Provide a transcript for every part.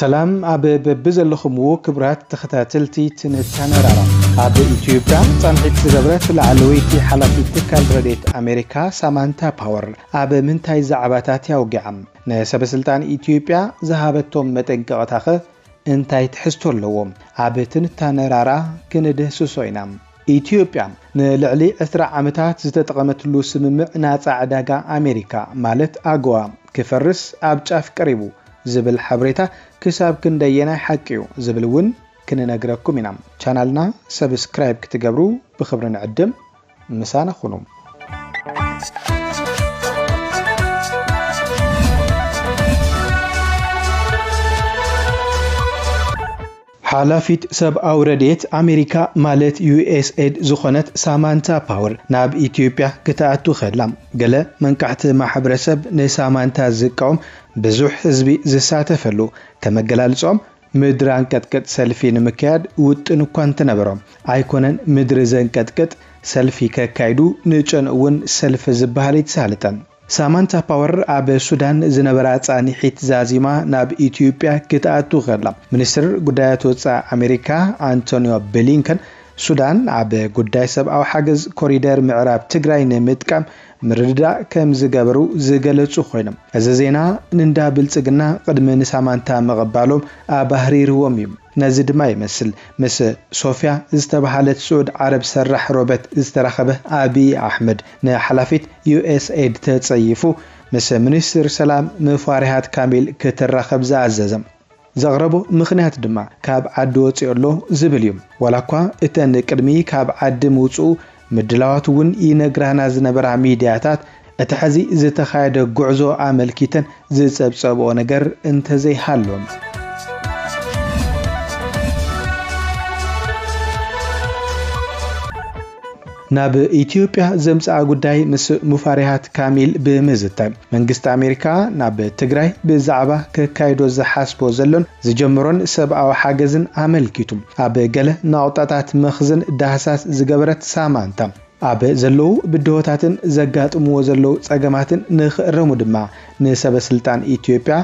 ሰላም ኣብ በብዘለኹምዎ ክቡራት ተኸታተልቲ ትንታነ ራራ። ኣብ ኢትዮጵያ ጻንሒት ዝገበረት ላዕለወይቲ ሓላፊት ትካል ረድኤት ኣሜሪካ ሳማንታ ፓወር ኣብ ምንታይ ዛዕባታት እያ ወጊዓ? ንሰበ ስልጣን ኢትዮጵያ ዝሃበቶም መጠንቀቕታኸ እንታይ ትሕዝቶ ኣለዎ? ኣብ ትንታነ ራራ ክንድህስሶ ኢና። ኢትዮጵያ ንልዕሊ ዕስራ ዓመታት ዝተጠቐመትሉ ስምምዕ ናጻ ዕዳጋ ኣሜሪካ ማለት ኣጎዋ ክፈርስ ኣብ ጫፍ ቀሪቡ ዝብል ሓበሬታ ክሳብ ክንደየናይ ሓቂ እዩ ዝብል እውን ክንነግረኩም ኢና። ቻናልና ሰብስክራይብ ክትገብሩ ብኽብሪ ንዕድም። ምሳና ኩኑ። ሓላፊት ሰብኣዊ ረድኤት ኣሜሪካ ማለት ዩ ኤስ ኤድ ዝኾነት ሳማንታ ፓወር ናብ ኢትዮጵያ ክትኣቱ ከላ፣ ገለ መንቃሕቲ ማሕበረሰብ ንሳማንታ ዝቃወም ብዙሕ ህዝቢ ዝሳተፈሉ ከም ኣገላልጾም ምድሪ ኣንቀጥቅጥ ሰልፊ ንምክያድ ውጥን እኳ እንተነበሮም፣ ኣይኮነን ምድሪ ዘንቀጥቅጥ ሰልፊ ከካይዱ ንጨንኡ እውን ሰልፊ ዝበሃል ኣይተሳለጠን። ሳማንታ ፓወር ኣብ ሱዳን ዝነበራ ጻኒሒት ዛዚማ ናብ ኢትዮጵያ ክትኣቱ ከላ፣ ሚኒስትር ጉዳያት ወጻኢ ኣሜሪካ ኣንቶኒዮ ብሊንከን ሱዳን ኣብ ጉዳይ ሰብኣዊ ሓገዝ ኮሪደር ምዕራብ ትግራይ ንምጥቃም ምርድዳእ ከም ዝገበሩ ዝገለጹ ኮይኖም፣ እዚ ዜና ንእንዳ ብልጽግና ቅድሚ ንሳማንታ ምቕባሎም ኣባህሪርዎም እዩ። ነዚ ድማ ይመስል ምስ ሶፊያ ዝተባሃለት ስዑድ ዓረብ ሰራሕ ሮበት ዝተራኸበ ኣብይ ኣሕመድ ንሓላፊት ዩ ኤስ ኤድ ተጸይፉ ምስ ሚኒስትር ሰላም ሙፈሪሃት ካሚል ክትራኸብ ዝኣዘዘ። ዘቕረቦ ምኽንያት ድማ ካብ ዓዲ ወፂኡ ኣሎ ዝብል እዩ። ዋላ እኳ እተን ቅድሚ ካብ ዓዲ ምውፅኡ ምድላዋት እውን ይነግራና ዝነበራ ሚድያታት እቲ ሕዚ ዝተኻየደ ጉዕዞ ኣመልኪተን ዝፀብፀብኦ ነገር እንተዘይሃሎ። ናብ ኢትዮጵያ ዘምጽኣ ጉዳይ ምስ ሙፈሪሃት ካሚል ብምዝታይ፣ መንግስቲ ኣሜሪካ ናብ ትግራይ ብዛዕባ ከካይዶ ዝሓስቦ ዘሎን ዝጀመሮን ሰብኣዊ ሓገዝን ኣመልኪቱ ኣብ ገለ ናቑጣታት መኽዝን ዳህሳስ ዝገበረት ሳማንታ፣ ኣብ ዘለዉ ብድሆታትን ዘጋጥምዎ ዘለዉ ጸገማትን ንኽእረሙ ድማ ንሰበ ስልጣን ኢትዮጵያ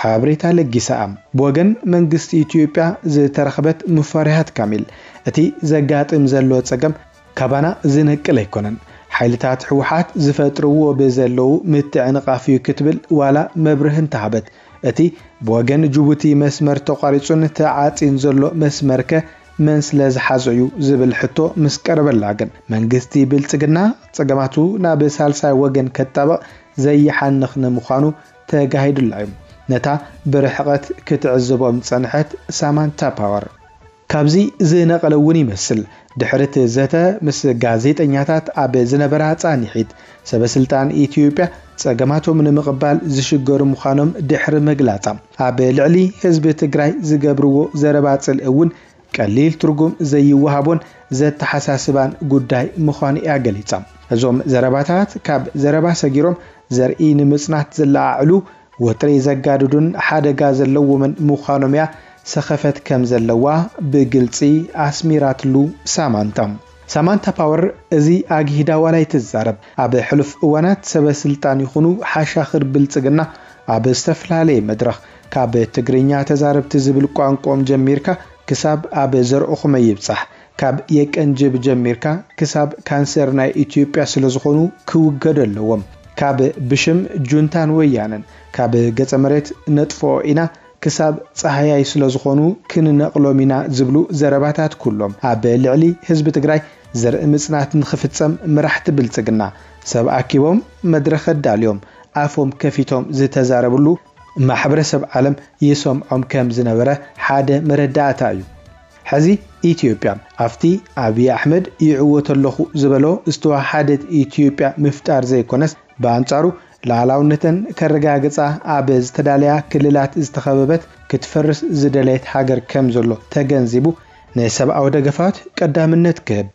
ሓበሬታ ለጊሳ። ብወገን መንግስቲ ኢትዮጵያ ዝተረኽበት ሙፈሪሃት ካሚል፣ እቲ ዘጋጥም ዘሎ ጸገም ካባና ዝነቅል ኣይኮነን። ሓይልታት ህወሓት ዝፈጥርዎ ብዘለዉ ምትዕንቓፍ እዩ ክትብል ዋላ መብርሂ እንተሃበት፣ እቲ ብወገን ጅቡቲ መስመር ተቋሪጹን ተዓጽዩን ዘሎ መስመርከ መን ስለ ዝሓዞ እዩ ዝብል ሕቶ ምስ ቀረበላ ግን፣ መንግስቲ ብልጽግና ጸገማቱ ናብ ሳልሳይ ወገን ከጣብቕ ዘይሓንኽ ንምዃኑ ተጋሂዱላ እዩ። ነታ ብርሕቐት ክትዕዝቦም ዝጸንሐት ሳማንታ ፓወር። ካብዚ ዝነቐለ እውን ይመስል፣ ድሕሪ እቲ ዘተ ምስ ጋዜጠኛታት ኣብ ዝነበራ ጻኒሒት፣ ሰበ ስልጣን ኢትዮጵያ ጸገማቶም ንምቕባል ዝሽገሩ ምዃኖም ድሕሪ ምግላጻ፣ ኣብ ልዕሊ ህዝቢ ትግራይ ዝገብርዎ ዘረባ ጽልኢ እውን ቀሊል ትርጉም ዘይወሃቦን ዘተሓሳስባን ጉዳይ ምዃኑ እያ ገሊጻ። እዞም ዘረባታት ካብ ዘረባ ሰጊሮም ዘርኢ ንምጽናት ዘለዓዕሉ፣ ወጥሪ ዘጋድዱን ሓደጋ ዘለዎምን ምዃኖም እያ ሰኸፈት ከም ዘለዋ ብግልጺ ኣስሚራትሉ ሳማንታ። ሳማንታ ፓወር እዚ ኣግሂዳ ዋላ ኣይትዛረብ፣ ኣብ ሕሉፍ እዋናት ሰበ ስልጣን ይኹኑ ሓሻኽር ብልጽግና ኣብ ዝተፈላለየ መድረኽ፣ ካብ ትግርኛ ተዛረብቲ ዝብል ቋንቋኦም ጀሚርካ ክሳብ ኣብ ዘርኦኹመ ይብጻሕ፣ ካብ የቀንጅብ ጀሚርካ ክሳብ ካንሰር ናይ ኢትዮጵያ ስለ ዝኾኑ ክውገዱ ኣለዎም። ካብ ብሽም ጁንታን ወያነን፣ ካብ ገጸ መሬት ነጥፍኦ ኢና ክሳብ ጸሃያይ ስለ ዝኾኑ ክንነቕሎም ኢና ዝብሉ ዘረባታት ኩሎም ኣብ ልዕሊ ህዝቢ ትግራይ ዘርኢ ምጽናት ንኽፍጸም መራሕቲ ብልጽግና ሰብ ኣኪቦም መድረኽ ኣዳልዮም ኣፎም ከፊቶም ዝተዛረብሉ ማሕበረሰብ ዓለም ይሰምዖም ከም ዝነበረ ሓደ መረዳእታ እዩ። ሕዚ ኢትዮጵያ ኣብቲ ኣብይ ኣሕመድ ይዕወት ኣለኹ ዝበሎ ዝተወሓደት ኢትዮጵያ ምፍጣር ዘይኮነስ፣ ብኣንጻሩ ሉዓላውነተን ከረጋግጻ ኣብ ዝተዳለያ ክልላት ዝተኸበበት ክትፈርስ ዝደለየት ሃገር ከም ዘሎ ተገንዚቡ፣ ንሰብኣዊ ደገፋት ቀዳምነት ክህብ፣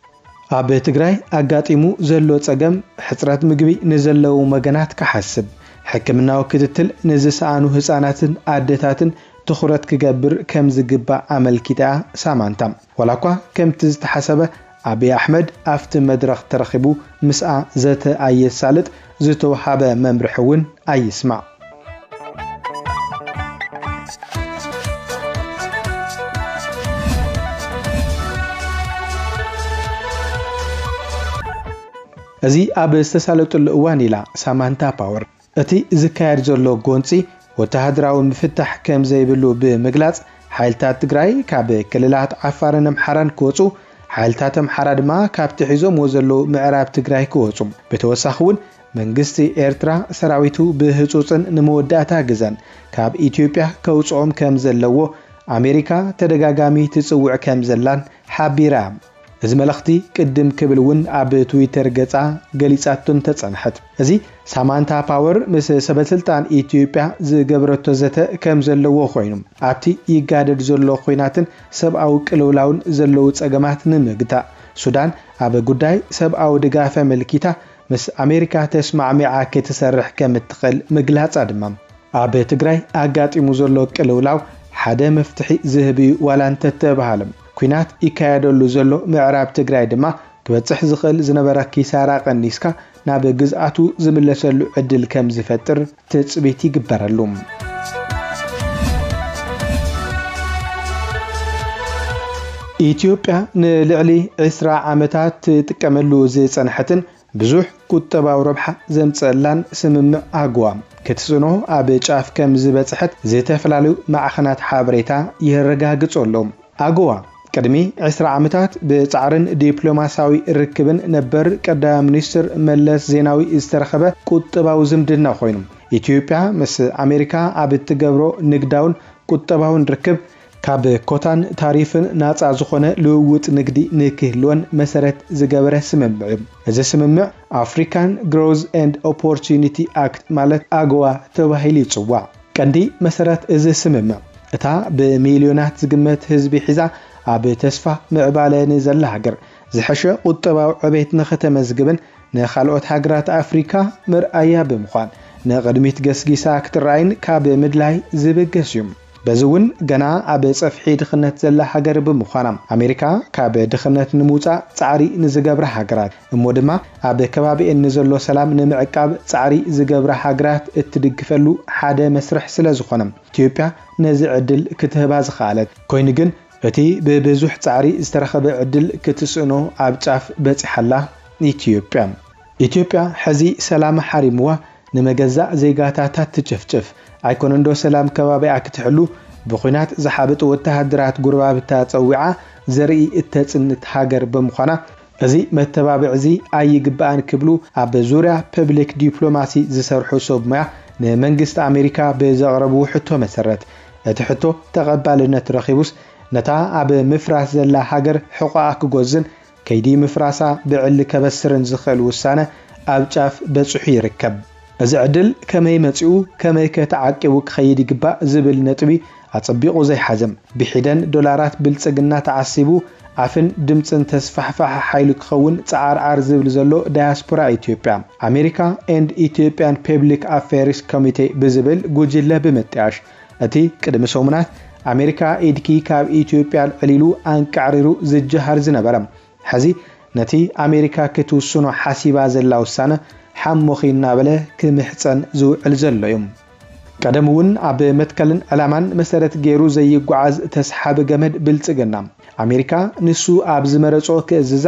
ኣብ ትግራይ ኣጋጢሙ ዘሎ ጸገም ሕጽረት ምግቢ ንዘለዉ ወገናት ክሓስብ፣ ሕክምናዊ ክትትል ንዝሰኣኑ ህጻናትን ኣደታትን ትኹረት ክገብር ከም ዝግባእ ኣመልኪታ ሳማንታ። ዋላ እኳ ከምቲ ዝተሓሰበ ኣብይ ኣሕመድ ኣብቲ መድረኽ ተረኺቡ ምስኣ ዘተ ኣየሳልጥ፣ ዝተውሃበ መምርሒ እውን ኣይስማዕ። እዚ ኣብ ዝተሳለጠሉ እዋን ኢላ ሳማንታ ፓወር፣ እቲ ዝካየድ ዘሎ ጎንፂ ወተሃደራዊ ምፍታሕ ከም ዘይብሉ ብምግላፅ፣ ሓይልታት ትግራይ ካብ ክልላት ዓፋርን ኣምሓራን ክወፁ፣ ሓይልታት ኣምሓራ ድማ ካብቲ ሒዞምዎ ዘለዉ ምዕራብ ትግራይ ክወፁ፣ ብተወሳኺ እውን መንግስቲ ኤርትራ ሰራዊቱ ብህጹጽን ንመወዳእታ ግዘን ካብ ኢትዮጵያ ከውጽኦም ከም ዘለዎ ኣሜሪካ ተደጋጋሚ ትጽውዕ ከም ዘላን ሓቢራ። እዚ መልእኽቲ ቅድም ክብል እውን ኣብ ትዊተር ገጻ ገሊጻቶ እንተጸንሐት፣ እዚ ሳማንታ ፓወር ምስ ሰበስልጣን ኢትዮጵያ ዝገበረቶ ዘተ ከም ዘለዎ ኮይኑ፣ ኣብቲ ይጋደድ ዘሎ ኲናትን ሰብኣዊ ቅልውላውን ዘለዉ ጸገማት ንምግታእ፣ ሱዳን ኣብ ጉዳይ ሰብኣዊ ድጋፍ ኣመልኪታ ምስ ኣሜሪካ ተስማዕሚዓ ክትሰርሕ ከም እትኽእል ምግላጻ ድማ፣ ኣብ ትግራይ ኣጋጢሙ ዘሎ ቅልውላው ሓደ መፍትሒ ዝህብ እዩ ዋላ እንተተባሃለ፣ ኲናት ይካየደሉ ዘሎ ምዕራብ ትግራይ ድማ ክበጽሕ ዝኽእል ዝነበረ ኪሳራ ቀኒስካ ናብ ግዝኣቱ ዝምለሰሉ ዕድል ከም ዝፈጥር ትጽቢት ይግበረሉ። ኢትዮጵያ ንልዕሊ ዕስራ ዓመታት ትጥቀመሉ ዝጸንሐትን ብዙሕ ቁጠባዊ ረብሓ ዘምጸላን ስምምዕ ኣጎዋ ክትጽዕኖ ኣብ ጫፍ ከም ዝበጽሐት ዝተፈላለዩ ማዕኸናት ሓበሬታ የረጋግጹ ኣለዉ። ኣጎዋ ቅድሚ ዕስራ ዓመታት ብጻዕርን ዲፕሎማሲያዊ ርክብን ነበር ቀዳማይ ሚኒስትር መለስ ዜናዊ ዝተረኸበ ቁጠባዊ ዝምድና ኮይኑ፣ ኢትዮጵያ ምስ ኣሜሪካ ኣብ እትገብሮ ንግዳውን ቁጠባውን ርክብ ካብ ኮታን ታሪፍን ናጻ ዝኾነ ልውውጥ ንግዲ ንክህልወን መሰረት ዝገበረ ስምምዕ እዩ። እዚ ስምምዕ ኣፍሪካን ግሮዝ ኤንድ ኦፖርቹኒቲ ኣክት ማለት ኣጎዋ ተባሂሉ ይጽዋዕ። ቀንዲ መሰረት እዚ ስምምዕ፣ እታ ብሚልዮናት ዝግመት ህዝቢ ሒዛ ኣብ ተስፋ ምዕባለ ንዘላ ሃገር ዝሐሸ ቁጠባዊ ዕቤት ንኸተመዝግብን ንኻልኦት ሃገራት ኣፍሪካ መርኣያ ብምዃን ንቕድሚት ገስጊሳ ክትረኣይን ካብ ምድላይ ዝብገስ እዩ። በዚ እውን ገና ኣብ ጸፍሒ ድኽነት ዘላ ሃገር ብምዃና፣ ኣሜሪካ ካብ ድኽነት ንምውጻእ ጻዕሪ ንዝገብራ ሃገራት እሞ ድማ ኣብ ከባቢኤን ንዘሎ ሰላም ንምዕቃብ ጻዕሪ ዝገብራ ሃገራት እትድግፈሉ ሓደ መስርሕ ስለ ዝኾነ፣ ኢትዮጵያ ነዚ ዕድል ክትህባ ዝኸኣለት። ኮይኑ ግን እቲ ብብዙሕ ጻዕሪ ዝተረኸበ ዕድል ክትስእኖ ኣብ ጫፍ በጺሓላ ኢትዮጵያ። ኢትዮጵያ ሕዚ ሰላም ሓሪምዋ ንመገዛእ ዜጋታታ ትጭፍጭፍ። ኣይኮነንዶ ሰላም ከባቢኣ ክትሕሉ ብኹናት ዝሓበጡ ወተሃደራት ጉርባብታ ጸዊዓ ዘርኢ እተጽንት ሃገር ብምዃና፣ እዚ መተባብዒ እዚ ኣይግባእን ክብሉ ኣብ ዙርያ ፐብሊክ ዲፕሎማሲ ዝሰርሑ ሰብ ሞያ ንመንግስቲ ኣሜሪካ ብዘቕረብዎ ሕቶ መሰረት፣ እቲ ሕቶ ተቐባልነት ረኺቡስ፣ ነታ ኣብ ምፍራስ ዘላ ሃገር ሕቖኣ ክጎዝን ከይዲ ምፍራሳ ብዕሊ ከበስርን ዝኽእል ውሳነ ኣብ ጫፍ በጺሑ ይርከብ። እዚ ዕድል ከመይ መጺኡ፣ ከመይ ከ ተዓቂቡ ክኸይድ ይግባእ ዝብል ነጥቢ ኣጸቢቑ ዘይሓዘ፣ ብሒደን ዶላራት ብልጽግና ተዓሲቡ ኣፍን ድምጽን ተስፋሕፋሒ ሓይሊ ክኸውን ጸዓርዓር ዝብል ዘሎ ዳያስፖራ ኢትዮጵያ፣ ኣሜሪካ ኤንድ ኢትዮጵያን ፐብሊክ ኣፌርስ ኮሚቴ ብዝብል ጉጅለ ብምጥያሽ፣ እቲ ቅድሚ ሰሙናት ኣሜሪካ ኢድኪ ካብ ኢትዮጵያ ኣልዕል ኢሉ ኣንቃዕሪሩ ዝጀሃር ዝነበረ፣ ሕዚ ነቲ ኣሜሪካ ክትውስኖ ሓሲባ ዘላ ውሳነ ሓሞኺ እናበለ ክምሕጸን ዝውዕል ዘሎ እዩ። ቀደም እውን ኣብ መትከልን ዕላማን መሰረት ገይሩ ዘይጓዓዝ ተስሓቢ ገመድ ብልጽግና፣ ኣሜሪካ ንሱ ኣብ ዝመረጾ ክእዝዛ፣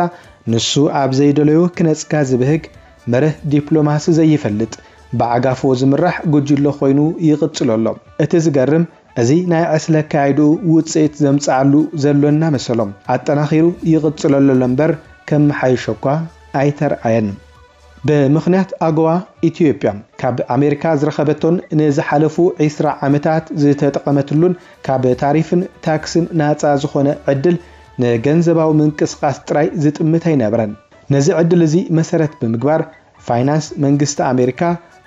ንሱ ኣብ ዘይደለዮ ክነጽጋ ዝብህግ መርህ ዲፕሎማሲ ዘይፈልጥ፣ ብዓጋፎ ዝምራሕ ጉጅለ ኮይኑ ይቕጽሎ ኣሎ። እቲ ዝገርም፣ እዚ ናይ ዕስለ ኣካይድኡ ውጽኢት ዘምጽኣሉ ዘሎ እናመሰሎም፣ ኣጠናኺሩ ይቕጽለሉ ኣሎ እምበር፣ ከመሓይሾ እኳ ኣይተርኣየን። ብምኽንያት ኣጎዋ፣ ኢትዮጵያ ካብ ኣሜሪካ ዝረኸበቶን ንዝሓለፉ ዕስራ ዓመታት ዝተጠቐመትሉን ካብ ታሪፍን ታክስን ናጻ ዝኾነ ዕድል ንገንዘባዊ ምንቅስቓስ ጥራይ ዝጥምት ኣይነበረን። ነዚ ዕድል እዚ መሰረት ብምግባር፣ ፋይናንስ መንግስቲ ኣሜሪካ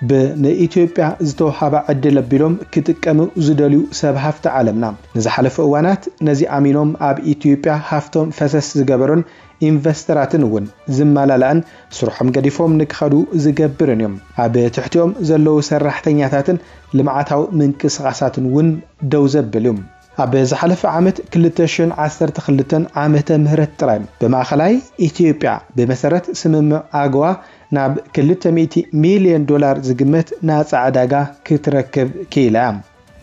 ብ ንኢትዮጵያ ዝተውሃባ ዕድል ኣቢሎም ክጥቀሙ ዝደልዩ ሰብ ሃፍቲ ዓለምና፣ ንዝሓለፉ እዋናት ነዚ ኣሚኖም ኣብ ኢትዮጵያ ሃፍቶም ፈሰስ ዝገበሩን ኢንቨስተራትን እውን ዝመላላእን፣ ስርሖም ገዲፎም ንክኸዱ ዝገብርን እዮም። ኣብ ትሕቲኦም ዘለዉ ሰራሕተኛታትን ልምዓታዊ ምንቅስቓሳትን እውን ደው ዘብል እዩ። ኣብ ዝሓለፈ ዓመት ክልተ ሽሕን ዓሰርተ ክልተን ዓመተ ምህረት ጥራይ፣ ብማእኸላይ ኢትዮጵያ ብመሰረት ስምምዕ ኣጎዋ ናብ ክልተ ሚእቲ ሚልዮን ዶላር ዝግመት ናጻ ዕዳጋ ክትረክብ ክኢላ እያ።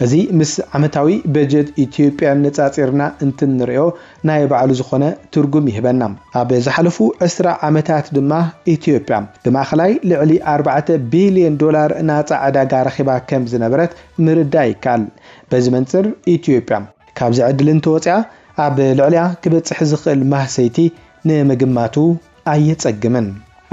እዚ ምስ ዓመታዊ በጀት ኢትዮጵያ ነጻጺርና እንትንሪኦ ናይ ባዕሉ ዝኾነ ትርጉም ይህበና። ኣብ ዝሓለፉ ዕስራ ዓመታት ድማ ኢትዮጵያ ብማእኸላይ ልዕሊ ኣርባዕተ ቢልዮን ዶላር ናጻ ዕዳጋ ረኺባ ከም ዝነበረት ምርዳእ ይከኣል። በዚ መንጽር ኢትዮጵያ ካብዚ ዕድል እንተወፂኣ ኣብ ልዕሊኣ ክበፅሕ ዝኽእል ማህሰይቲ ንምግማቱ ኣየጸግምን።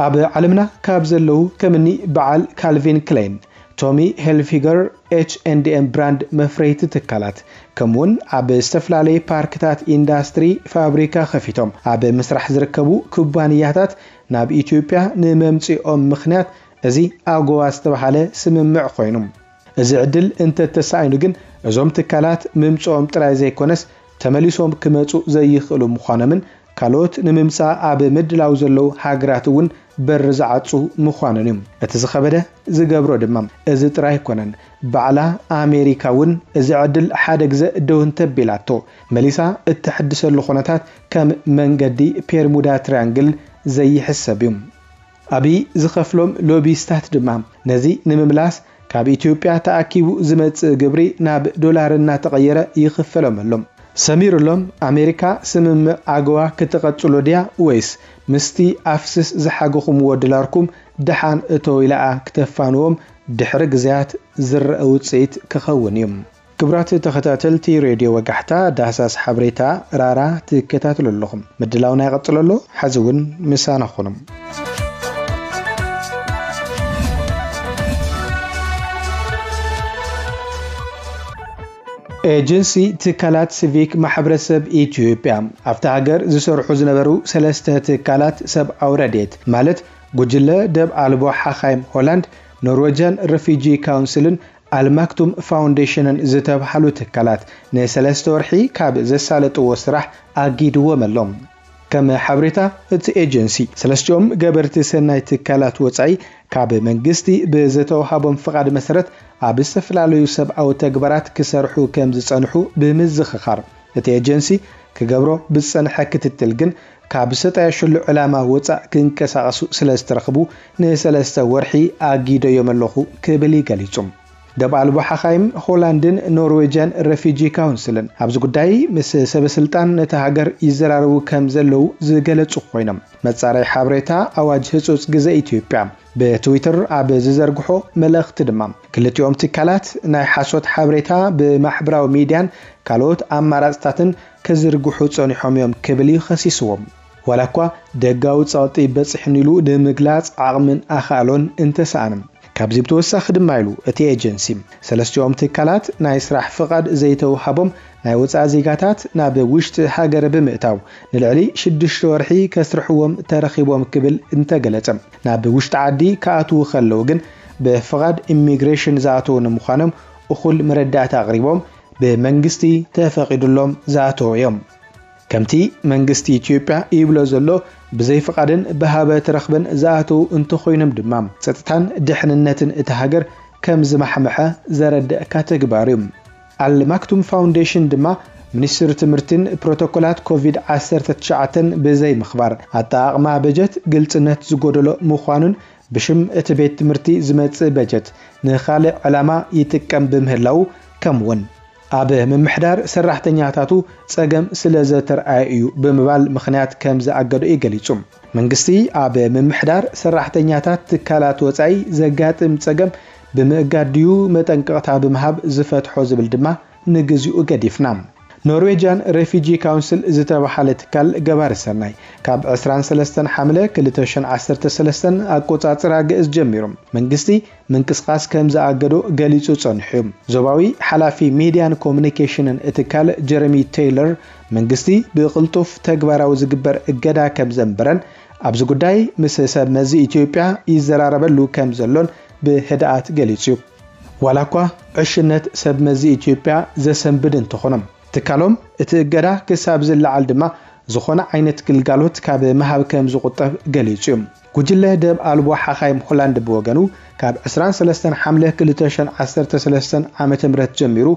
ኣብ ዓለምና ካብ ዘለዉ ከምኒ በዓል ካልቪን ክሌን፣ ቶሚ ሄልፊገር፣ ኤች ኤንድ ኤም ብራንድ መፍረይቲ ትካላት ከምኡውን ኣብ ዝተፈላለየ ፓርክታት ኢንዳስትሪ ፋብሪካ ከፊቶም ኣብ ምስራሕ ዝርከቡ ኩባንያታት ናብ ኢትዮጵያ ንመምፅኦም ምኽንያት እዚ ኣጎዋ ዝተባሃለ ስምምዕ ኮይኑ። እዚ ዕድል እንተተሳኢኑ ግን እዞም ትካላት ምምፅኦም ጥራይ ዘይኮነስ ተመሊሶም ክመፁ ዘይኽእሉ ምዃኖምን ካልኦት ንምምፃእ ኣብ ምድላው ዘለዉ ሃገራት እውን በር ዝዓፁ ምዃኖን እዩ። እቲ ዝኸበደ ዝገብሮ ድማ እዚ ጥራይ ኣይኮነን። ባዕላ ኣሜሪካ እውን እዚ ዕድል ሓደ ግዘ ደው እንተቢላቶ መሊሳ እተሐድሰሉ ኩነታት ከም መንገዲ ፔርሙዳ ትሪያንግል ዘይሕሰብ እዩ። ኣብይ ዝኸፍሎም ሎቢስታት ድማ ነዚ ንምምላስ ካብ ኢትዮጵያ ተኣኪቡ ዝመጽእ ግብሪ ናብ ዶላር እናተቐየረ ይኽፈሎም ኣሎ። ሰሚሩሎም ኣሜሪካ ስምምዕ ኣገዋ ክትቐጽሎ ድያ ወይስ ምስቲ ኣፍስስ ዝሓገኹምዎ ዶላርኩም ደሓን እተው ኢላኣ ክተፋንዎም ድሕሪ ግዜያት ዝረአ ውጽኢት ክኸውን እዩ። ክቡራት ተኸታተልቲ ሬድዮ ወጋሕታ፣ ዳህሳስ ሓበሬታ ራራ ትከታተሉ ኣለኹም። ምድላውና ይቐጽል ኣሎ። ሕዚ እውን ምሳና ኹኑ። ኤጀንሲ ትካላት ሲቪክ ማሕበረሰብ ኢትዮጵያ ኣብቲ ሃገር ዝሰርሑ ዝነበሩ ሰለስተ ትካላት ሰብኣዊ ረድኤት ማለት ጉጅለ ደብ ኣልቦ ሓኻይም ሆላንድ፣ ኖርዌጅያን ረፊጂ ካውንስልን ኣልማክቱም ፋውንዴሽንን ዝተብሃሉ ትካላት ንሰለስተ ወርሒ ካብ ዘሳለጥዎ ስራሕ ኣጊድዎም ኣሎ። ከም ሓበሬታ እቲ ኤጀንሲ፣ ሰለስቲኦም ገበርቲ ሰናይ ትካላት ወጻኢ ካብ መንግስቲ ብዝተዋሃቦም ፍቓድ መሰረት ኣብ ዝተፈላለዩ ሰብኣዊ ተግባራት ክሰርሑ ከም ዝጸንሑ ብምዝኽኻር፣ እቲ ኤጀንሲ ክገብሮ ብዝጸንሐ ክትትል ግን ካብ ዝተጣየሸሉ ዕላማ ወጻእ ክንቀሳቐሱ ስለ ዝተረኽቡ ንሰለስተ ወርሒ ኣጊደዮም ኣለኹ ክብል እዩ ገሊጹ። ደብ ኣልቦ ሓኻይም ሆላንድን ኖርዌጅያን ረፊጂ ካውንስልን ኣብዚ ጉዳይ ምስ ሰበ ስልጣን ነታ ሃገር ይዘራረቡ ከም ዘለዉ ዝገለጹ ኮይኖም፣ መጻረይ ሓበሬታ ኣዋጅ ህጹጽ ግዘ ኢትዮጵያ ብትዊተር ኣብ ዝዘርግሖ መልእኽቲ ድማ ክልቲኦም ትካላት ናይ ሓሶት ሓበሬታ ብማሕበራዊ ሚድያን ካልኦት ኣማራጽታትን ክዝርግሑ ጸኒሖም እዮም ክብል እዩ ከሲስዎም። ዋላ እኳ ደጋዊ ጸቕጢ በጺሕኒ ኢሉ ንምግላጽ ዓቕምን ኣኽኣሎን እንተሰኣነ። ካብዚ ብተወሳኺ ድማ ኢሉ እቲ ኤጀንሲ፣ ሰለስቲኦም ትካላት ናይ ስራሕ ፍቓድ ዘይተውሃቦም ናይ ወጻኢ ዜጋታት ናብ ውሽጢ ሃገር ብምእታው ንልዕሊ ሽዱሽተ ወርሒ ከስርሕዎም ተረኺቦም ክብል እንተገለጸ፣ ናብ ውሽጢ ዓዲ ክኣትዉ ከለዉ ግን ብፍቓድ ኢሚግሬሽን ዝኣተዉ ንምዃኖም እኹል መረዳእታ ኣቕሪቦም ብመንግስቲ ተፈቒዱሎም ዝኣተዉ እዮም። ከምቲ መንግስቲ ኢትዮጵያ ይብሎ ዘሎ ብዘይ ፍቓድን ብሃበ ተረኽበን ዝኣተዉ እንተኾይኖም ድማ ጸጥታን ድሕንነትን እታ ሃገር ከም ዝማሕመሐ ዘረድእ ካተግባር እዩ። ኣልማክቱም ፋውንዴሽን ድማ ሚኒስትሪ ትምህርትን ፕሮቶኮላት ኮቪድ ዓሰርተ ትሽዓተ ብዘይ ምኽባር ኣጠቓቕማ በጀት ግልጽነት ዝጎደሎ ምዃኑን ብሽም እቲ ቤት ትምህርቲ ዝመጽእ በጀት ንኻልእ ዕላማ ይጥቀም ብምህላዉ ከምኡውን ኣብ ምምሕዳር ሰራሕተኛታቱ ጸገም ስለ ዘተርኣየ እዩ ብምባል ምኽንያት ከም ዝኣገዶ እዩ ገሊጹ። መንግስቲ ኣብ ምምሕዳር ሰራሕተኛታት ትካላት ወጻኢ ዘጋጥም ጸገም ብምእጋድ ድዩ መጠንቀቕታ ብምሃብ ዝፈትሖ ዝብል ድማ ንግዚኡ ገዲፍና። ኖርዌጅያን ሬፊጂ ካውንስል ዝተባሃለ ትካል ገባሪ ሰናይ ካብ ዕስራን ሰለስተን ሓምለ ክልተ ሽሕን ዓሰርተ ሰለስተን ኣቆጻጽራ ግእዝ ጀሚሩ መንግስቲ ምንቅስቓስ ከም ዝኣገዶ ገሊጹ ጸኒሑ እዩ። ዞባዊ ሓላፊ ሚድያን ኮሙኒኬሽንን እቲ ትካል ጀረሚ ቴይለር መንግስቲ ብቕልጡፍ ተግባራዊ ዝግበር እገዳ ከም ዘንበረን ኣብዚ ጉዳይ ምስ ሰብ መዚ ኢትዮጵያ ይዘራረበሉ ከም ዘሎን ብህድኣት ገሊጹ እዩ። ዋላ እኳ ዕሽነት ሰብ መዚ ኢትዮጵያ ዘሰንብድ እንተኾነ ትካሎም እቲ እገዳ ክሳብ ዝለዓል ድማ ዝኾነ ዓይነት ግልጋሎት ካብ ምሃብ ከም ዝቑጠብ ገሊጹ እዩ። ጉጅለ ደብ ኣልቦ ሓኻይም ሆላንድ ብወገኑ ካብ ዕስራን ሰለስተን ሓምለ ክልተ ሽሕን ዓሰርተ ሰለስተን ዓመተ ምህረት ጀሚሩ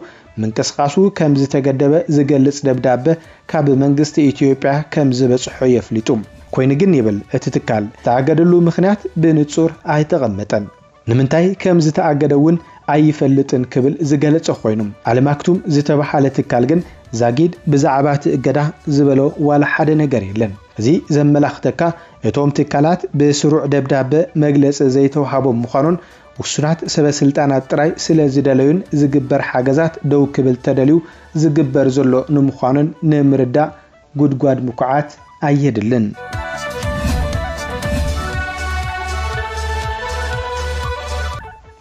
ምንቅስቓሱ ከም ዝተገደበ ዝገልጽ ደብዳበ ካብ መንግስቲ ኢትዮጵያ ከም ዝበጽሖ የፍሊጡ። ኮይኑ ግን ይብል እቲ ትካል ዝተኣገደሉ ምኽንያት ብንጹር ኣይተቐመጠን። ንምንታይ ከም ዝተኣገደ እውን ኣይፈልጥን ክብል ዝገለጸ ኮይኑ፣ ኣልማክቱም ዝተባሃለ ትካል ግን ዛጊድ ብዛዕባ እቲ እገዳ ዝበሎ ዋላ ሓደ ነገር የለን። እዚ ዘመላኽተካ እቶም ትካላት ብስሩዕ ደብዳበ መግለጺ ዘይተዋሃቦም ምዃኑን ውሱናት ሰበ ስልጣናት ጥራይ ስለ ዝደለዩን ዝግበር ሓገዛት ደው ክብል ተደልዩ ዝግበር ዘሎ ንምዃኑን ንምርዳእ ጉድጓድ ምኩዓት ኣየድልን።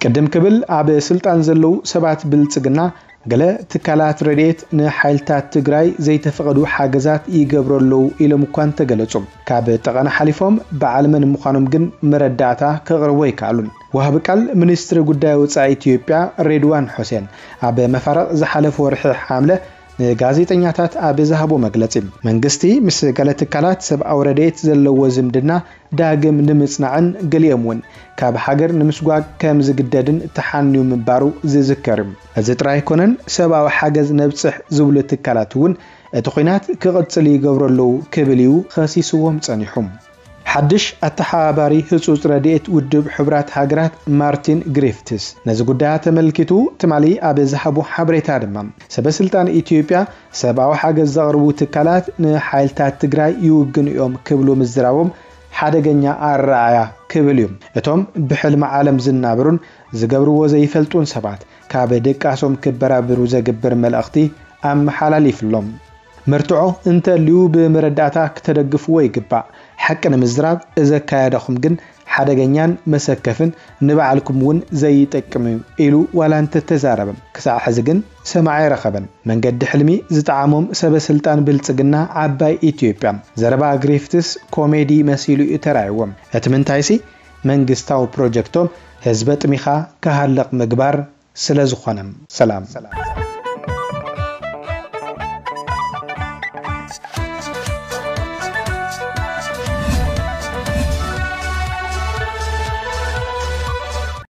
ቅድም ክብል ኣብ ስልጣን ዘለዉ ሰባት ብልጽግና ገለ ትካላት ረድኤት ንሓይልታት ትግራይ ዘይተፈቐዱ ሓገዛት ይገብሩ ኣለዉ ኢሎም እኳ እንተገለጹ፣ ካብ ጠቐነ ሓሊፎም በዓል መን ምዃኖም ግን መረዳእታ ከቕርቡ ኣይከኣሉን። ወሃቢ ቃል ሚኒስትሪ ጉዳይ ወጻኢ ኢትዮጵያ ሬድዋን ሑሴን ኣብ መፋርቕ ዝሓለፈ ወርሒ ሓምለ ንጋዜጠኛታት ኣብ ዝሃቦ መግለጺ፣ መንግስቲ ምስ ገለ ትካላት ሰብኣዊ ረድኤት ዘለዎ ዝምድና ዳግም ንምጽናዕን ገሊኦም እውን ካብ ሃገር ንምስጓግ ከም ዝግደድን ተሓንዩ ምንባሩ ዝዝከር እዩ። እዚ ጥራይ ኣይኮነን፣ ሰብኣዊ ሓገዝ ነብጽሕ ዝብሉ ትካላት እውን እቲ ኲናት ክቕጽል ይገብሩ ኣለዉ ክብል እዩ ከሲስዎም ጸኒሑ። ሓድሽ ኣተሓባባሪ ህጹጽ ረድኤት ውድብ ሕቡራት ሃገራት ማርቲን ግሪፍትስ ነዚ ጉዳይ ተመልኪቱ ትማሊ ኣብ ዝሃቦ ሓበሬታ ድማ፣ ሰበ ስልጣን ኢትዮጵያ ሰብኣዊ ሓገዝ ዘቕርቡ ትካላት ንሓይልታት ትግራይ ይውግኑ እዮም ክብሉ ምዝራቦም ሓደገኛ ኣረኣእያ ክብል እዩ። እቶም ብሕልሚ ዓለም ዝናበሩን ዝገብርዎ ዘይፈልጡን ሰባት ካብ ድቃሶም ክበራብሩ ዘግብር መልእኽቲ ኣመሓላሊፍሎም። መርትዖ እንተልዩ ብመረዳእታ ክተደግፍዎ ይግባእ። ሓቂ ንምዝራብ እዚ ኣካያዳኹም ግን ሓደገኛን መሰከፍን ንባዕልኩም እውን ዘይጠቅም እዩ ኢሉ ዋላ እንተተዛረበ፣ ክሳዕ ሕዚ ግን ሰማዒ ኣይረኸበን። መንገዲ ሕልሚ ዝጠዓሞም ሰበ ስልጣን ብልጽግና ዓባይ ኢትዮጵያ ዘረባ ግሪፍትስ ኮሜዲ መሲሉ እዩ ተራእይዎም። እቲ ምንታይሲ መንግስታዊ ፕሮጀክቶም ህዝቢ ኣጥሚኻ ክሃልቕ ምግባር ስለ ዝኾነ። ሰላም።